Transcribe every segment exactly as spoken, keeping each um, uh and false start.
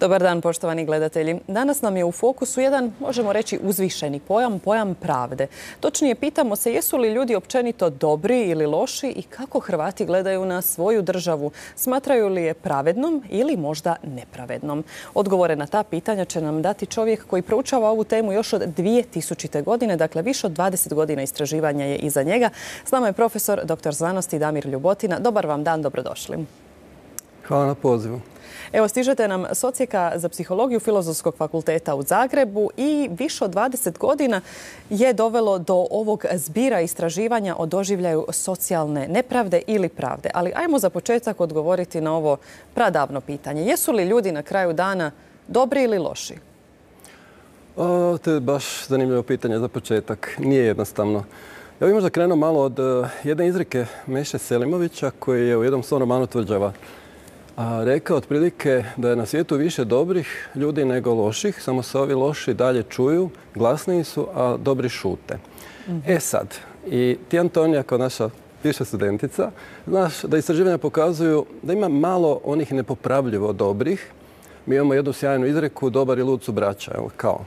Dobar dan, poštovani gledatelji. Danas nam je u fokusu jedan, možemo reći, uzvišeni pojam, pojam pravde. Točnije, pitamo se jesu li ljudi općenito dobri ili loši i kako Hrvati gledaju na svoju državu. Smatraju li je pravednom ili možda nepravednom? Odgovore na ta pitanja će nam dati čovjek koji proučava ovu temu još od dvije tisućite. godine, dakle više od dvadeset godina istraživanja je iza njega. S nama je profesor doktor znanosti Damir Ljubotina. Dobar vam dan, dobrodošli. Hvala na pozivu. Evo, stižete nam s Odsjeka za psihologiju Filozofskog fakulteta u Zagrebu i više od dvadeset godina je dovelo do ovog zbira istraživanja o doživljaju socijalne nepravde ili pravde. Ali ajmo za početak odgovoriti na ovo pradavno pitanje. Jesu li ljudi na kraju dana dobri ili loši? O, to je baš zanimljivo pitanje za početak. Nije jednostavno. Ja bih možda krenuo malo od uh, jedne izreke Meše Selimovića koji je u jednom svom romanu Tvrđava a rekao otprilike da je na svijetu više dobrih ljudi nego loših, samo se ovi loši dalje čuju, glasniji su, a dobri šute. Mm-hmm. E sad, i ti Antonija kao naša bivša studentica, znaš da istraživanja pokazuju da ima malo onih nepopravljivo dobrih. Mi imamo jednu sjajnu izreku, dobar i lud su braća, evo, kao.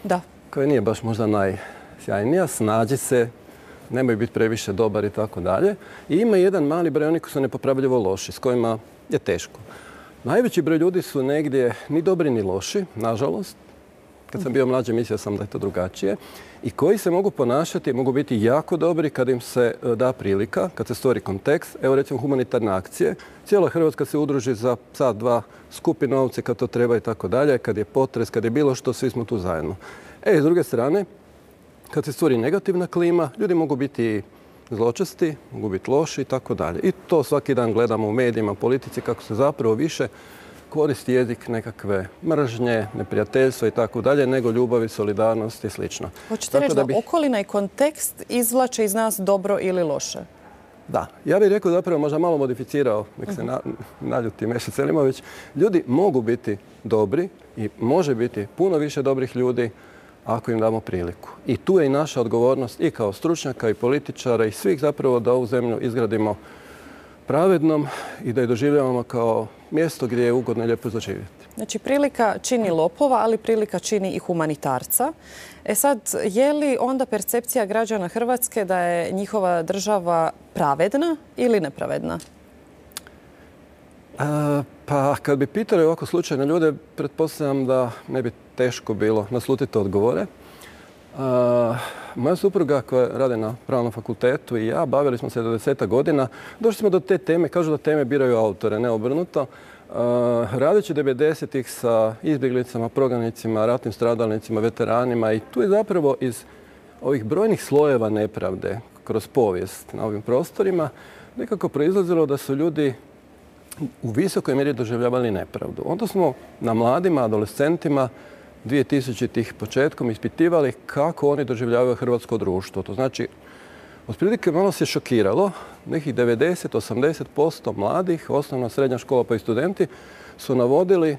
Da. Koja nije baš možda najsjajnija, snađi se, nemoj biti previše dobar i tako dalje. I ima jedan mali broj onih koji su nepopravljivo loši, s kojima je teško. Najveći broj ljudi su negdje ni dobri ni loši, nažalost. Kad sam bio mlađi mislio sam da je to drugačije. I koji se mogu ponašati, mogu biti jako dobri kad im se da prilika, kad se stvori kontekst. Evo recimo humanitarne akcije. Cijela Hrvatska se udruži za sat, dva, skupi novce kad to treba i tako dalje. Kad je potres, kad je bilo što, svi smo tu zajedno. E, s druge strane, kad se stvori negativna klima, ljudi mogu biti zločesti, mogu biti loši i tako dalje. I to svaki dan gledamo u medijima, politici, kako se zapravo više koristi jezik nekakve mržnje, neprijateljstva i tako dalje, nego ljubavi, solidarnost i slično. Hoćete reći da, da okolina i kontekst izvlače iz nas dobro ili loše? Da. Ja bih rekao zapravo možda malo modificirao, nek se na, naljuti Meša Selimović. Ljudi mogu biti dobri i može biti puno više dobrih ljudi ako im damo priliku. I tu je i naša odgovornost i kao stručnjaka i političara i svih zapravo da ovu zemlju izgradimo pravednom i da je doživljavamo kao mjesto gdje je ugodno i lijepo za živjeti. Znači, prilika čini lopova, ali prilika čini i humanitarca. E sad, je li onda percepcija građana Hrvatske da je njihova država pravedna ili nepravedna? A, pa, kad bi pitali ovako slučajne ljude, pretpostavljam da ne bi teško bilo naslutiti odgovore. A, moja supruga koja radi na Pravnom fakultetu i ja bavili smo se devedeset godina. Došli smo do te teme, kažu da teme biraju autore, ne obrnuto. A, radeći devedesetih sa izbjeglicama, prognanicima, ratnim stradalnicima, veteranima i tu je zapravo iz ovih brojnih slojeva nepravde kroz povijest na ovim prostorima nekako proizlazilo da su ljudi u visokoj mjeri doživljavali nepravdu. Onda smo na mladima, adolescentima dvije tisućitih početkom ispitivali kako oni doživljavaju hrvatsko društvo. To znači, otprilike malo se šokiralo. Nekih devedeset do osamdeset posto mladih, osnovna srednja škola pa i studenti, su navodili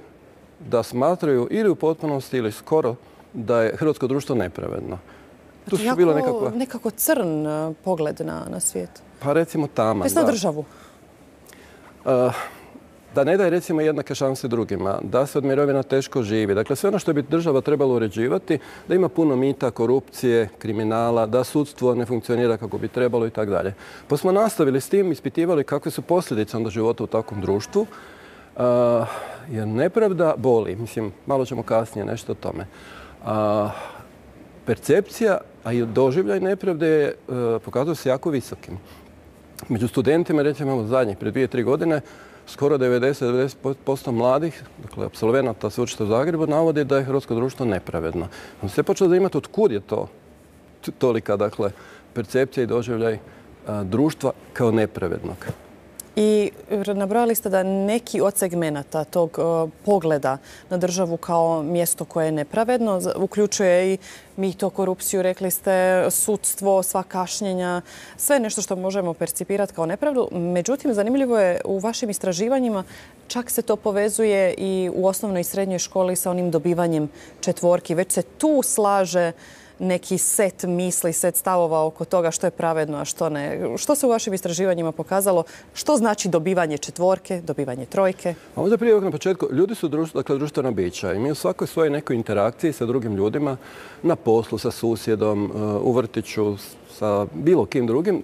da smatraju ili u potpunosti ili skoro da je hrvatsko društvo nepravedno. Tu su bilo nekako, nekako crn pogled na, na svijet. Pa recimo taman. Na državu. Uh, da ne daje recimo jednake šanse drugima, da se od mirovina teško živi. Dakle, sve ono što bi država trebala uređivati, da ima puno mita, korupcije, kriminala, da sudstvo ne funkcionira kako bi trebalo i tako dalje. Pa smo nastavili s tim, ispitivali kakve su posljedice onda života u takvom društvu. Uh, jer nepravda boli. Mislim, malo ćemo kasnije nešto o tome. Uh, percepcija, a i doživljaj nepravde uh, pokazuje se jako visokim. Među studentima, recimo imamo zadnjih, prije dvije, tri godine, skoro devedeset do devedeset posto mladih, dakle, apsolvenata sveučilišta u Zagrebu, navodi da je hrvatsko društvo nepravedno. On se počeo zanimati od kud je to tolika, dakle, percepcija i doživljaj a, društva kao nepravednog. I nabrojali ste da neki od segmenata tog uh, pogleda na državu kao mjesto koje je nepravedno uključuje i mito, korupciju, rekli ste, sudstvo, sva kašnjenja, sve nešto što možemo percipirati kao nepravdu. Međutim, zanimljivo je u vašim istraživanjima čak se to povezuje i u osnovnoj i srednjoj školi sa onim dobivanjem četvorki. Već se tu slaže neki set misli, set stavova oko toga što je pravedno, a što ne. Što se u vašim istraživanjima pokazalo? Što znači dobivanje četvorke, dobivanje trojke? A možda prije na početku, ljudi su društvo, dakle, društvena bića i mi u svakoj svojoj nekoj interakciji sa drugim ljudima, na poslu, sa susjedom, u vrtiću, sa bilo kim drugim,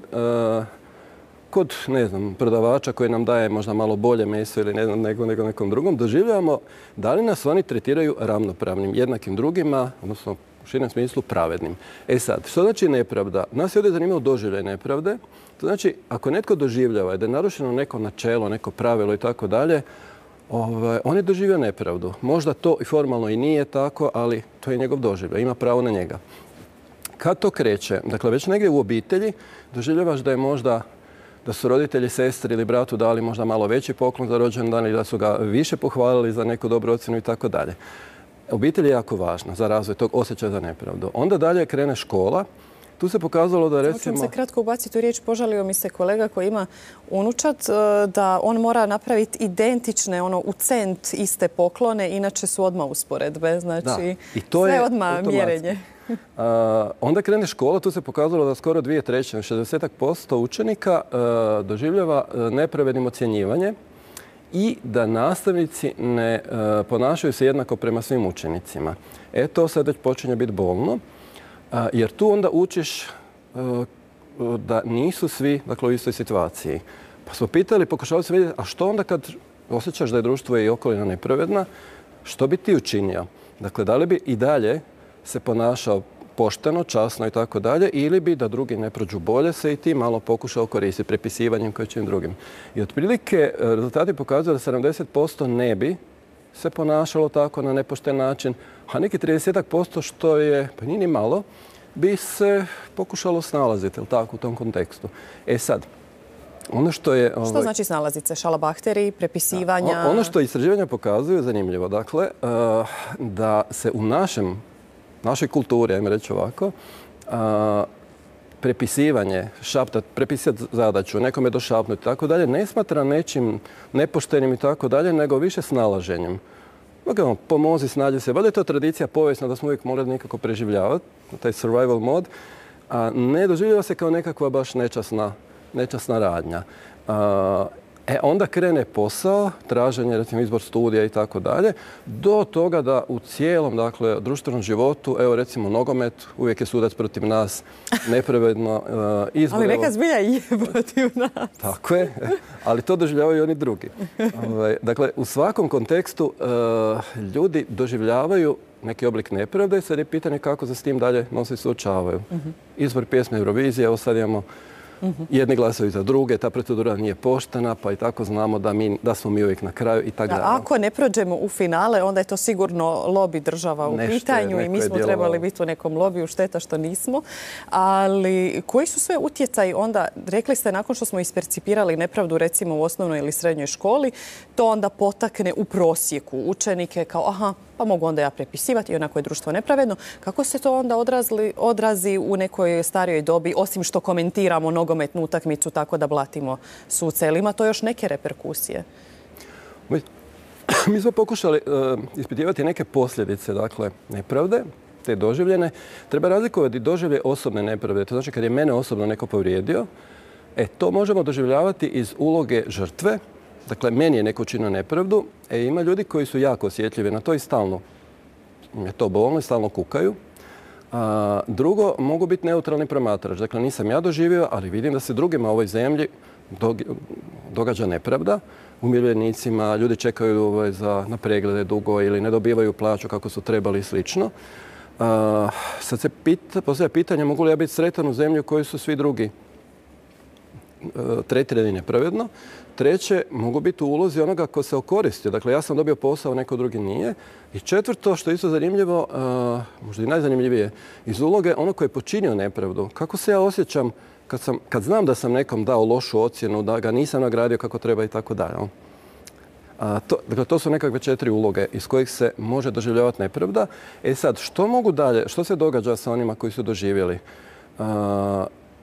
kod, ne znam, prodavača koji nam daje možda malo bolje meso ili ne znam, nego, nego nekom drugom, doživljavamo da li nas oni tretiraju ravnopravnim, jednakim drugima, odnosno u širem smislu pravednim. E sad, što znači nepravda? Nas je ovdje zanimalo doživljaj nepravde. To znači, ako netko doživljava da je narušeno neko načelo, neko pravilo i tako dalje, on je doživio nepravdu. Možda to i formalno i nije tako, ali to je njegov doživljaj, ima pravo na njega. Kad to kreće? Dakle, već negdje u obitelji doživljavaš da je možda da su roditelji, sestri ili bratu dali možda malo veći poklon za rođendan i da su ga više pohvalili za neku dobru ocjenu i tako dalje. Obitelj je jako važna za razvoj tog osjećaja za nepravdu. Onda dalje krene škola. Tu se pokazalo da recimo... Hoćem se kratko ubaciti u riječ. Požalio mi se kolega koji ima unučad da on mora napraviti identične, ono, u cent iste poklone, inače su odmah usporedbe. Znači, sve odmah mjerenje. Uh, onda krene škola, tu se pokazalo da skoro dvije trećine, šezdeset posto učenika uh, doživljava uh, nepravednim ocjenjivanje i da nastavnici ne uh, ponašaju se jednako prema svim učenicima. E, to sad već počinje biti bolno, uh, jer tu onda učiš uh, da nisu svi, dakle, u istoj situaciji. Pa smo pitali, pokušali se vidjeti, a što onda kad osjećaš da je društvo i okolina nepravedna, što bi ti učinio? Dakle, da li bi i dalje se ponašao pošteno, časno i tako dalje, ili bi da drugi ne prođu bolje se i ti malo pokušao koristiti prepisivanjem koje čim drugim. I otprilike rezultati pokazuju da sedamdeset posto ne bi se ponašalo tako na nepošten način, a neki trideset posto što je, pa nije ni malo, bi se pokušalo snalaziti, jel tako, u tom kontekstu. E sad, ono što je... Što ovaj, znači snalaziti se? Šalabahteri, prepisivanja? Da, ono što istraživanja pokazuju je zanimljivo. Dakle, uh, da se u našem našoj kulturi, ajmo reći ovako, a, prepisivanje, šaptat, prepisati zadaću, nekome došapnuti i tako dalje, ne smatra nečim nepoštenim i tako dalje, nego više snalaženjem. Dakle, pomozi, snađi se. Valjda je to tradicija povijesna da smo uvijek morali nekako preživljavati, taj survival mod, a ne doživljava se kao nekakva baš nečasna, nečasna radnja. A, E, onda krene posao, traženje, recimo izbor studija i tako dalje, do toga da u cijelom, dakle, društvenom životu, evo recimo nogomet, uvijek je sudac protiv nas, nepravedno uh, izbor. Ali neka zbilja je protiv nas. Tako je, ali to doživljavaju i oni drugi. Dakle, u svakom kontekstu uh, ljudi doživljavaju neki oblik nepravde i sad je pitanje kako se s tim dalje nosi suočavaju. Uh-huh. Izbor pjesme Eurovizije, evo sad imamo Uh-huh. jedni glasaju za druge, ta procedura nije poštena, pa i tako znamo da, mi, da smo mi uvijek na kraju i tako dalje. Ako ne prođemo u finale, onda je to sigurno lobby država u Nešto pitanju je, i mi smo trebali biti u nekom lobiju, šteta što nismo. Ali koji su sve utjecaji onda, rekli ste nakon što smo ispercipirali nepravdu recimo u osnovnoj ili srednjoj školi, to onda potakne u prosjeku učenike kao aha, pa mogu onda ja prepisivati i onako je društvo nepravedno. Kako se to onda odrazli, odrazi u nekoj starijoj dobi, osim što komentiramo nogometnu utakmicu tako da blatimo suce? Ili ima to još neke reperkusije? Mi, mi smo pokušali uh, ispitivati neke posljedice, dakle, nepravde, te doživljene. Treba razlikovati doživlje osobne nepravde. To znači kad je mene osobno neko povrijedio, e, to možemo doživljavati iz uloge žrtve. Dakle, meni je neko učinio nepravdu, e, ima ljudi koji su jako osjetljivi na to i stalno je to bolno i stalno kukaju. A, drugo, mogu biti neutralni promatrač. Dakle, nisam ja doživio, ali vidim da se drugima u ovoj zemlji događa nepravda. Umirovljenicima, ljudi čekaju ovaj, za, na preglede dugo ili ne dobivaju plaću kako su trebali i slično. A, sad se pita, postavlja pitanje mogu li ja biti sretan u zemlji u kojoj su svi drugi tretirani nepravedno. Treće, mogu biti u ulozi onoga ko se okoristio. Dakle, ja sam dobio posao, neko drugi nije. I četvrto, što je isto zanimljivo, uh, možda i najzanimljivije, iz uloge ono koji je počinio nepravdu. Kako se ja osjećam kad, sam, kad znam da sam nekom dao lošu ocjenu, da ga nisam nagradio kako treba i tako dalje. To, dakle, to su nekakve četiri uloge iz kojih se može doživljavati nepravda. E sad, što mogu dalje? Što se događa sa onima koji su doživjeli? Uh,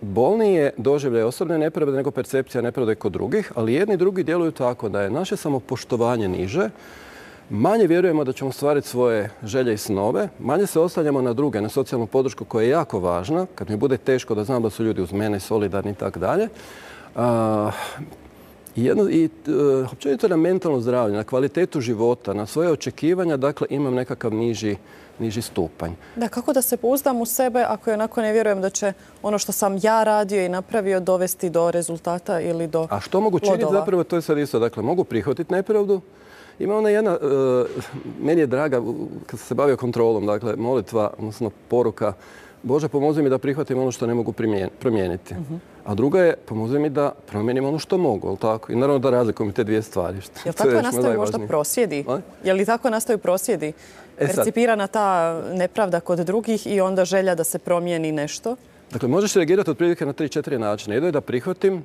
Bolniji je doživljaj osobne nepravde nego percepcija nepravde kod drugih, ali jedni i drugi djeluju tako da je naše samopoštovanje niže manje vjerujemo da ćemo ostvariti svoje želje i snove, manje se oslanjamo na druge, na socijalnu podršku koja je jako važna, kad mi bude teško da znam da su ljudi uz mene, solidarni i tako dalje. I, jedno, i uh, općenito na mentalno zdravlje, na kvalitetu života, na svoje očekivanja, dakle imam nekakav niži, niži stupanj. Da, kako da se pouzdam u sebe ako onako ne vjerujem da će ono što sam ja radio i napravio dovesti do rezultata ili do plodova? A što mogu činiti zapravo, to je sad isto. Dakle, mogu prihvatiti nepravdu. Ima ona jedna, uh, meni je draga, kad sam se bavio kontrolom, dakle, molitva, odnosno poruka, Bože, pomozi mi da prihvatim ono što ne mogu promijeniti. Uh-huh. A druga je, pomozi mi da promijenim ono što mogu, tako? I naravno da razlikujem te dvije stvari. Jel tako nastaju možda prosvjedi? Je li tako nastaju prosvjedi? E Percipirana ta nepravda kod drugih i onda želja da se promijeni nešto? Dakle, možeš reagirati otprilike na tri, četiri načina. Jedno je da prihvatim,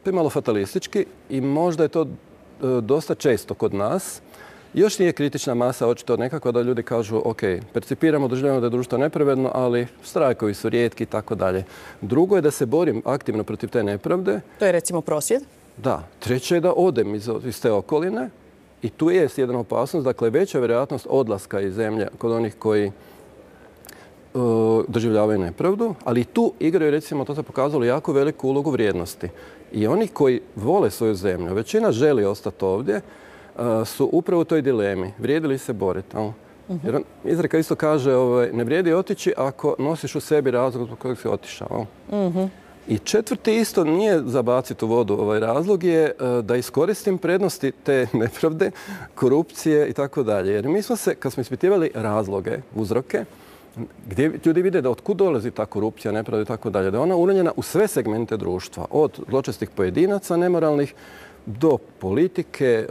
to je malo fatalistički i možda je to e, dosta često kod nas. Još nije kritična masa, očito nekako da ljudi kažu ok, percipiramo, doživljamo da je društvo nepravedno, ali štrajkovi su rijetki i tako dalje. Drugo je da se borim aktivno protiv te nepravde. To je recimo prosvjed? Da. Treće je da odem iz, iz te okoline i tu je jedna opasnost, dakle veća vjerojatnost odlaska iz zemlje kod onih koji uh, doživljavaju nepravdu, ali i tu igraju, recimo, to se pokazalo, jako veliku ulogu vrijednosti. I oni koji vole svoju zemlju, većina želi ostati ovdje, su upravo u toj dilemi. Vrijedi li se boriti? Jer izreka isto kaže, ovaj, ne vrijedi otići ako nosiš u sebi razlog zbog kojeg si otišao. Uh-huh. I četvrti isto nije zabaciti u vodu. Ovaj razlog je da iskoristim prednosti te nepravde, korupcije i tako dalje. Jer mi smo se, kad smo ispitivali razloge, uzroke, gdje ljudi vide da otkud dolazi ta korupcija, nepravda i tako dalje, da je ona uranjena u sve segmente društva, od zločestih pojedinaca, nemoralnih, do politike.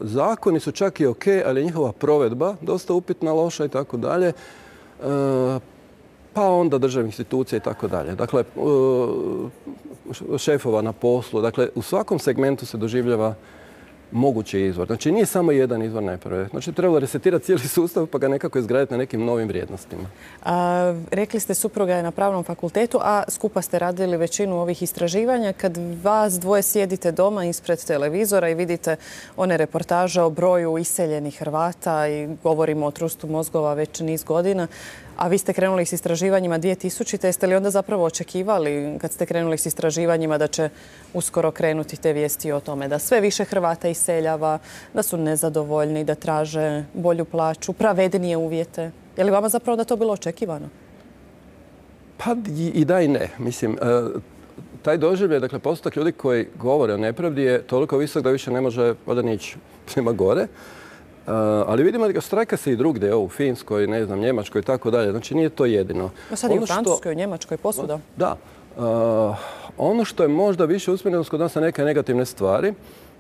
Zakoni su čak i ok, ali njihova provedba dosta upitna, loša i tako dalje. Pa onda državnih institucija i tako dalje. Dakle, šefova na poslu. Dakle, u svakom segmentu se doživljava mogući izvor. Znači, nije samo jedan izvor nepravde. Znači, trebalo resetirati cijeli sustav pa ga nekako izgraditi na nekim novim vrijednostima. A, rekli ste, supruga je na pravnom fakultetu, a skupa ste radili većinu ovih istraživanja. Kad vas dvoje sjedite doma ispred televizora i vidite one reportaže o broju iseljenih Hrvata i govorimo o trustu mozgova već niz godina, a vi ste krenuli s istraživanjima dvije tisućite. Jeste li onda zapravo očekivali, kad ste krenuli s istraživanjima, da će uskoro krenuti te vijesti o tome da sve više Hrvata iseljava, da su nezadovoljni, da traže bolju plaću, pravednije uvjete? Je li vama zapravo da to bilo očekivano? Pa i da i ne. Mislim, taj doživljaj, dakle, postotak ljudi koji govore o nepravdi je toliko visok da više ne može valjda nići prema gore. Uh, ali vidimo da štrajka se i drugdje, u Finskoj, ne znam, Njemačkoj i tako dalje. Znači, nije to jedino. No sad i u Francuskoj, Njemačkoj, posuda. Da. Uh, ono što je možda više usmjereno kod nas na neke negativne stvari,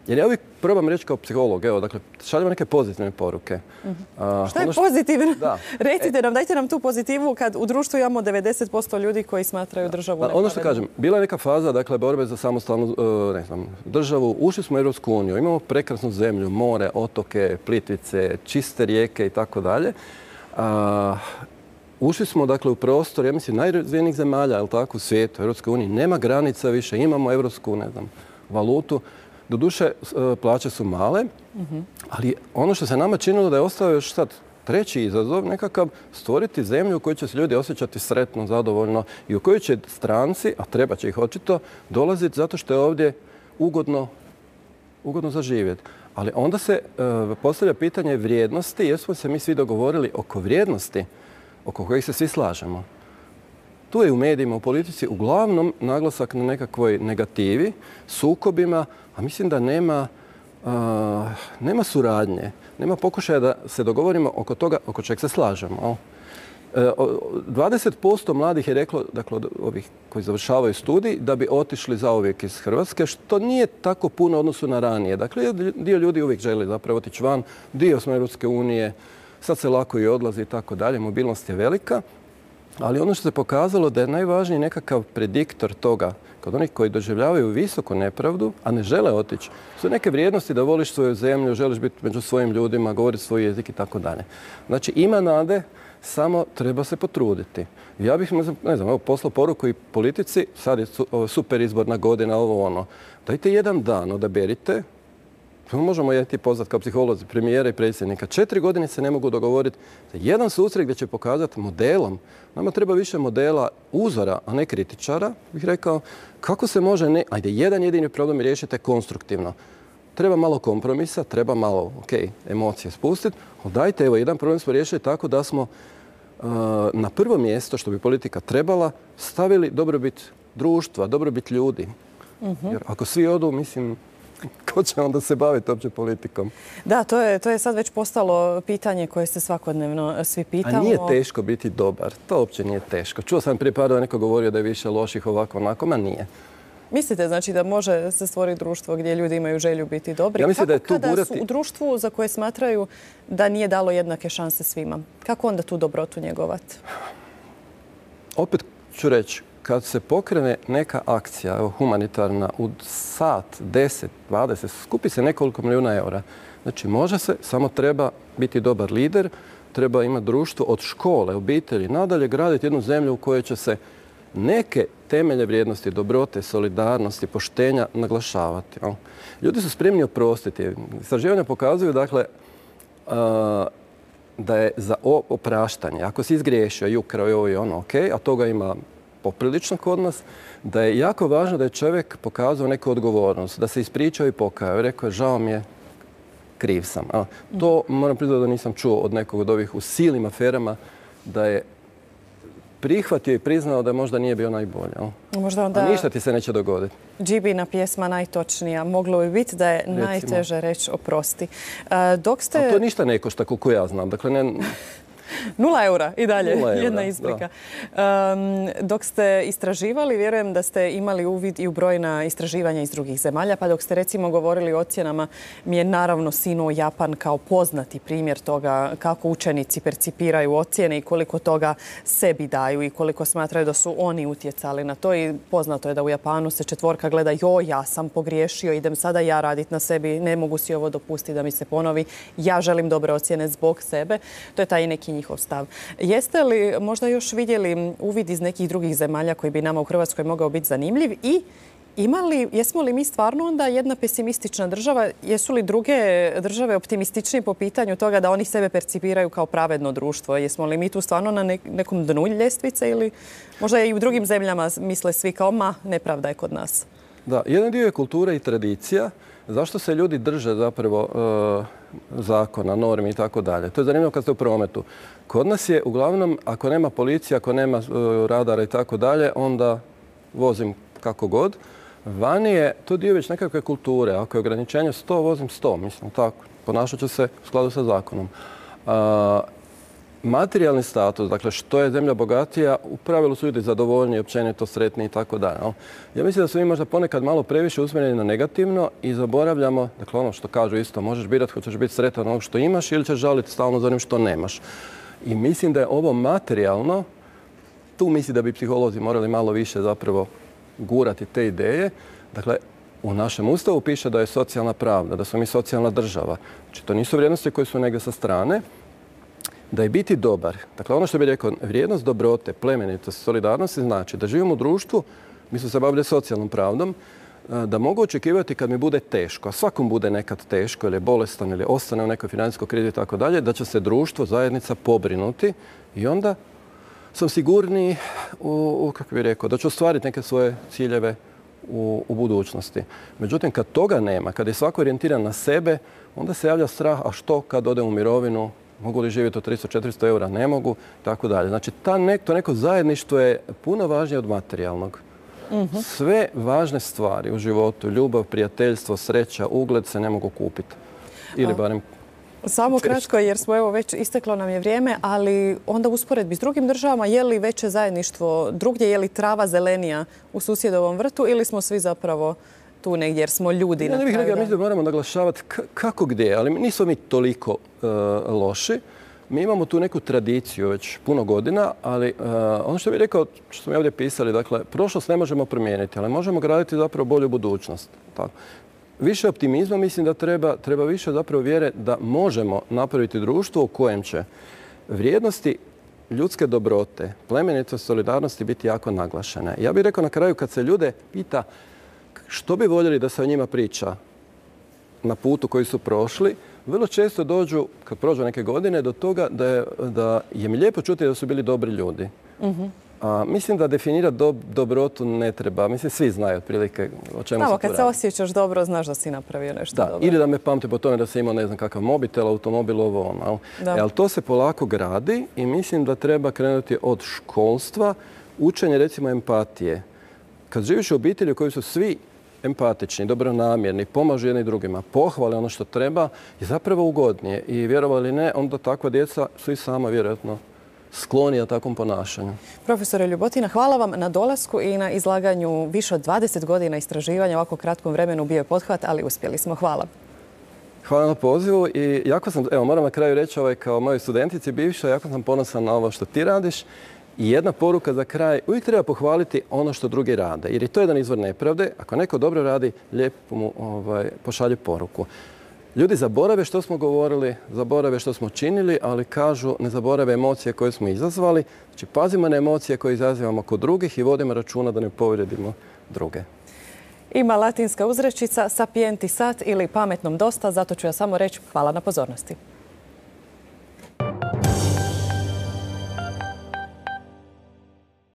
jer ja uvijek probam reći kao psiholog, evo, dakle, šaljemo neke pozitivne poruke. Uh-huh. Uh, Šta je ono što... pozitivno? Da. Recite nam, dajte nam tu pozitivu kad u društvu imamo devedeset posto ljudi koji smatraju državu nepravednom. Ono što kažem, bila je neka faza, dakle, borbe za samostalnu ne znam, državu. Ušli smo u Europsku uniju, imamo prekrasnu zemlju, more, otoke, Plitvice, čiste rijeke i tako dalje. Ušli smo, dakle, u prostor, ja mislim, najrazvijenijih zemalja, je li tako, u svijetu, u Europskoj uniji. Nema granica više, imamo europsku, ne znam, valutu. Doduše, plaće su male, ali ono što se nama činilo da je ostao još sad treći izazov, nekakav stvoriti zemlju u kojoj će se ljudi osjećati sretno, zadovoljno i u kojoj će stranci, a treba će ih očito, dolaziti zato što je ovdje ugodno, ugodno za živjeti. Ali onda se uh, postavlja pitanje vrijednosti, jer smo se mi svi dogovorili oko vrijednosti oko kojih se svi slažemo. Tu je u medijima, u politici uglavnom naglasak na nekakvoj negativi, sukobima, a mislim da nema, uh, nema suradnje, nema pokušaja da se dogovorimo oko toga oko čeg se slažemo. dvadeset posto mladih je reklo, dakle, od ovih koji završavaju studij, da bi otišli zauvijek iz Hrvatske, što nije tako puno u odnosu na ranije. Dakle, dio ljudi uvijek želi zapravo otići van, dio smo Europske unije, sad se lako i odlazi i tako dalje, mobilnost je velika. Ali ono što se pokazalo da je najvažniji nekakav prediktor toga, kod onih koji doživljavaju visoku nepravdu, a ne žele otići, su neke vrijednosti da voliš svoju zemlju, želiš biti među svojim ljudima, govoriti svoj jezik i tako dalje. Znači, ima nade, samo treba se potruditi. Ja bih, ne znam, ne znam, evo, poslao poruku i politici, sad je super izborna godina, ovo ono. Dajte jedan dan, odaberite možemo je ti poznat kao psiholozi, premijera i predsjednika. Četiri godine se ne mogu dogovoriti za jedan susret gdje će pokazati modelom. Nama treba više modela uzora, a ne kritičara, bih rekao, kako se može, ne, ajde, jedan jedini problem riješite konstruktivno. Treba malo kompromisa, treba malo, ok, emocije spustiti, ali dajte, evo, jedan problem smo riješili tako da smo uh, na prvo mjesto, što bi politika trebala, stavili dobrobit društva, dobrobit ljudi. Uh-huh. Jer ako svi odu, mislim, ko će onda se baviti uopće politikom? Da, to je, to je sad već postalo pitanje koje se svakodnevno svi pitamo. A nije teško biti dobar. To uopće nije teško. Čuo sam prije par dana neko govorio da je više loših ovako onako, ma nije. Mislite znači da može se stvoriti društvo gdje ljudi imaju želju biti dobri? Ja mislim kako da je tu kada gurati... su u društvu za koje smatraju da nije dalo jednake šanse svima? Kako onda tu dobrotu njegovati? Opet ću reći, kad se pokrene neka akcija, evo, humanitarna, u sat, deset, dvadeset, skupi se nekoliko milijuna eura. Znači, može se, samo treba biti dobar lider, treba imati društvo od škole, obitelji, nadalje graditi jednu zemlju u kojoj će se neke temelje vrijednosti, dobrote, solidarnosti, poštenja naglašavati. Ljudi su spremni oprostiti. Istraživanja pokazuju, dakle, da je za opraštanje, ako si izgriješio i ukrao i ovo i ono, ok, a toga ima poprilično kod nas, da je jako važno da je čovjek pokazao neku odgovornost, da se ispričao i pokajao i rekao je žao mi je, kriv sam. A, to moram priznati da nisam čuo od nekog od ovih u silnim aferama da je prihvatio i priznao da možda nije bio najbolji. Možda onda... A ništa ti se neće dogoditi. Džibina pjesma najtočnija. Moglo bi biti da je Recimo. najteže reći oprosti. Dok ste... A to ništa ne košta koliko ja znam. Dakle, ne... Nula eura i dalje, Nula jedna eura, isprika. Um, dok ste istraživali, vjerujem da ste imali uvid i u brojna istraživanja iz drugih zemalja, pa dok ste recimo govorili o ocjenama, mi je naravno sinuo Japan kao poznati primjer toga kako učenici percipiraju ocjene i koliko toga sebi daju i koliko smatraju da su oni utjecali na to. I poznato je da u Japanu se četvorka gleda, joj, ja sam pogriješio, idem sada ja raditi na sebi, ne mogu si ovo dopustiti da mi se ponovi, ja želim dobre ocjene zbog sebe. To je taj neki njihov stav. Jeste li možda još vidjeli uvid iz nekih drugih zemalja koji bi nama u Hrvatskoj mogao biti zanimljiv i imali, jesmo li mi stvarno onda jedna pesimistična država? Jesu li druge države optimističnije po pitanju toga da oni sebe percipiraju kao pravedno društvo? Jesmo li mi tu stvarno na nekom dnu ljestvice ili možda i u drugim zemljama misle svi kao ma, nepravda je kod nas? Da, jedan dio je kultura i tradicija. Zašto se ljudi drže zapravo e, zakona, normi i tako dalje? To je zanimljivo kad ste u prometu. Kod nas je uglavnom, ako nema policije, ako nema e, radara i tako dalje, onda vozim kako god. Vani je to dio već nekakve kulture. Ako je ograničenje sto, vozim sto. Mislim, tako. Ponašat ću se u skladu sa zakonom. A, materijalni status, dakle što je zemlja bogatija, u pravilu su ljudi zadovoljni, općenito sretni i tako dalje. Ja mislim da su mi možda ponekad malo previše usmjereni na negativno i zaboravljamo, dakle ono što kažu isto, možeš birati hoćeš biti sretan onog što imaš ili ćeš žaliti stalno za onim što nemaš. I mislim da je ovo materijalno, tu mislim da bi psiholozi morali malo više zapravo gurati te ideje. Dakle, u našem Ustavu piše da je socijalna pravda, da smo mi socijalna država. Znači, to nisu vrijednosti koje su negdje sa strane. Da je biti dobar, dakle ono što bih rekao, vrijednost dobrote, plemenitost, solidarnosti znači da živimo u društvu, mi smo se bavili socijalnom pravdom, da mogu očekivati kad mi bude teško, a svakom bude nekad teško ili je bolestan ili ostane u nekoj financijskoj krizi i tako dalje, da će se društvo, zajednica pobrinuti i onda sam sigurniji u, u kako bih rekao, da ću ostvariti neke svoje ciljeve u, u budućnosti. Međutim, kad toga nema, kad je svako orijentiran na sebe, onda se javlja strah, a što kad odem u mirovinu, mogu li živjeti od tristo do četiristo eura? Ne mogu, tako dalje. Znači, ta nek, to neko zajedništvo je puno važnije od materijalnog. Uh-huh. Sve važne stvari u životu, ljubav, prijateljstvo, sreća, ugled se ne mogu kupiti. Ili barem... Samo kratko, jer smo evo već isteklo nam je vrijeme, ali onda usporedbi s drugim državama, je li veće zajedništvo drugdje, je li trava zelenija u susjedovom vrtu ili smo svi zapravo tu negdje jer smo ljudi na kraju dana? Ja mislim da moramo naglašavati kako gdje, ali nismo mi toliko uh, loši. Mi imamo tu neku tradiciju već puno godina, ali uh, ono što bih rekao, što smo ovdje pisali, dakle, prošlost ne možemo promijeniti, ali možemo graditi zapravo bolju budućnost. Tako. Više optimizma mislim da treba, treba više zapravo vjere da možemo napraviti društvo u kojem će vrijednosti ljudske dobrote, plemenitost, solidarnosti biti jako naglašene. Ja bih rekao na kraju kad se ljude pita što bi voljeli da se o njima priča na putu koji su prošli, vrlo često dođu, kad prođu neke godine, do toga da je, da je mi lijepo čuti da su bili dobri ljudi. Mm-hmm. A, mislim da definirati dob, dobrotu ne treba. Mislim, svi znaju otprilike o čemu Samo, se tu kad se osjećaš dobro, znaš da si napravio nešto da, dobro. Ili da me pamte po tome da si imao ne znam kakav mobitel, automobil, ovo ono. E, ali to se polako gradi i mislim da treba krenuti od školstva, učenje recimo empatije. Kad živiš u obitelji u kojoj su svi empatični, dobronamjerni, pomažu jedni drugima, pohvale ono što treba, je zapravo ugodnije. I vjerovali ili ne, onda takva djeca su i sama vjerojatno sklonija takvom ponašanju. Profesore Ljubotina, hvala vam na dolasku i na izlaganju više od dvadeset godina istraživanja u ovako kratkom vremenu. Bio je pothvat, ali uspjeli smo. Hvala. Hvala na pozivu i jako sam, evo moram na kraju reći ovaj, kao mojoj studentici bivša, jako sam ponosan na ovo što ti radiš. I jedna poruka za kraj, uvijek treba pohvaliti ono što drugi rade, jer je to jedan izvor nepravde. Ako neko dobro radi, lijepo mu ovaj, pošalje poruku. Ljudi zaborave što smo govorili, zaborave što smo činili, ali kažu ne zaborave emocije koje smo izazvali. Znači pazimo na emocije koje izazivamo kod drugih i vodimo računa da ne povrijedimo druge. Ima latinska uzrečica sapienti sat ili pametnom dosta, zato ću ja samo reći hvala na pozornosti.